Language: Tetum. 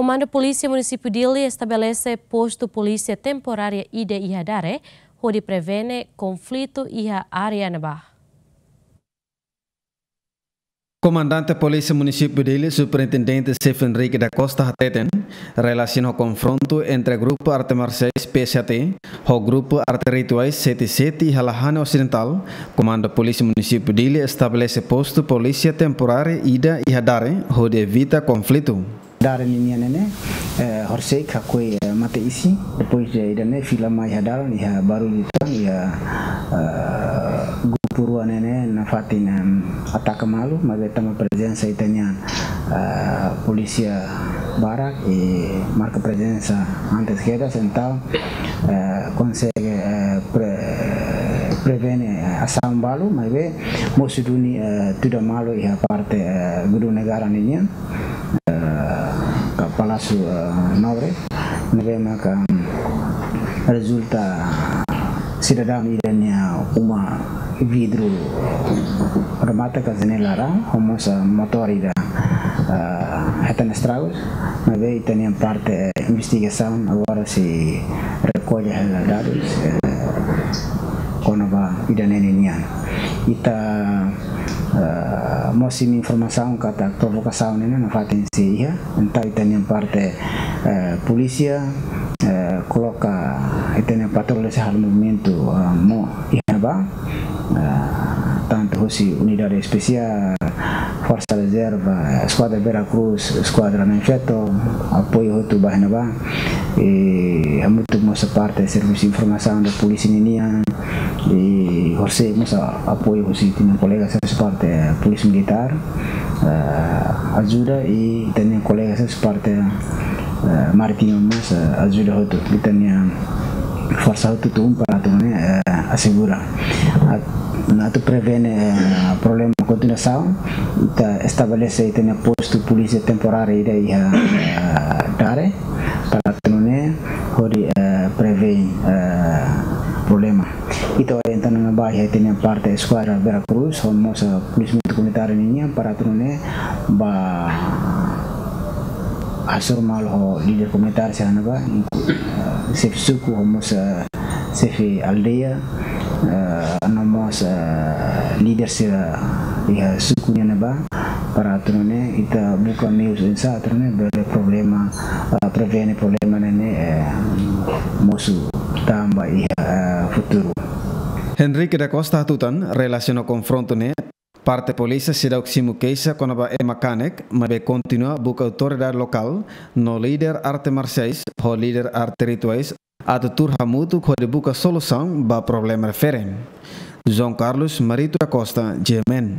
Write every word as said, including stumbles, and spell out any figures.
Komandu Polísia Munisípiu Dili estabelese postu polísia temporária ida iha Dare, hodi prevene konflitu iha área ne'ebá. Komandante Polísia Munisípiu Dili, Superintendente Xefe Henrique da Costa hateten, relasiona ho konfrontu entre grupu arte marsiais P S H T ho grupu arte rituais Sete Sete iha Lahane Osidentál, Komandu Polísia Munisípiu Dili estabelese postu polísia temporáriu ida iha Dare, hodi evita konflitu. Dare ninian ne'e, eh, horisehik hakoi, eh, mate-isin, depois de ida-ne'e fila mai iha dalan, iha barullu tan, iha, eh, grupu rua ne'e nafatin, em, ataka malu, maibé tanba prezensa ita-nian, eh, polísia barak, i marka prezensa antes kedas, entaun, eh, konsege, eh, pre-, prevene, eh, asaun balu, maibé mosu duni, eh, tuda malu iha parte, eh, Gedung Negara ninian, eh, ka Palásiu, eh, Nobre, ne'ebé maka, mm, rezulta sidadaun ida nia uma vidru remata ka janela rau, ho mós, eh, motór ida, eh, hetan estragus, maibé ita-nia parte, eh, investigasaun agora sei rekolla hela dadus, eh, kona-ba ida-ne'e ninian. Ita, eh, mós simu informasaun katak provokasaun ne'e nafatin sei iha, entaun ita-nia parte, eh, polísia, eh, koloka ita-nia patrulla sei halo movimentu, eh, mós iha ne'ebá, eh, tantu husi unidade espesiál, Forsa Rezerva, Eskuadra Vera Cruz, Eskuadra Na'in Feto, apoiu hotu ba iha ne'ebá. I hamutuk mós parte servisu informasaun da polísia ninian, i horisehik mós apoiu husi ita-nia kolega sira husi parte polísia militár, eh, ajuda, i ita-nia kolega sira husi parte, eh, marítima mós, eh, ajuda hotu. Ita-nia forsa hotu tun para atu nune'e, eh, asegura. At-, atu prevene, eh, problema kontinuasaun, ita estabelese ita-nia postu polísia temporáriu ida iha, eh, Dare, para atu nune'e hodi, eh, prevene, eh, problema. Ita orienta ona ba iha ita-nia parte Eskuadra Vera Cruz, ho mós, eh, polisiamentu komunitáriu ninian, para atu nune'e ba hasoru malu ho líder komunitáriu sira ne'ebá, inku-, eh, xefe suku, ho mós, eh, xefe aldeia, eh, no mós, eh, líder sira iha suku nian ne'ebá, para atu nune'e ita buka meius oinsá atu nune'e bele problema, eh, prevene problema ne'e, eh, mosu tan ba iha, eh, futuru. Henrique da Costa hatutan, relasiona konfrontu ne'e, parte polísia seidauk simu keixa kona-ba ema kanek, maibé kontinua buka autoridade lokál no líder arte marsiais ho líder arte rituais atu tuur hamutuk hodi buka solusaun ba problema refere. João Carlos Marito da Costa, G M N.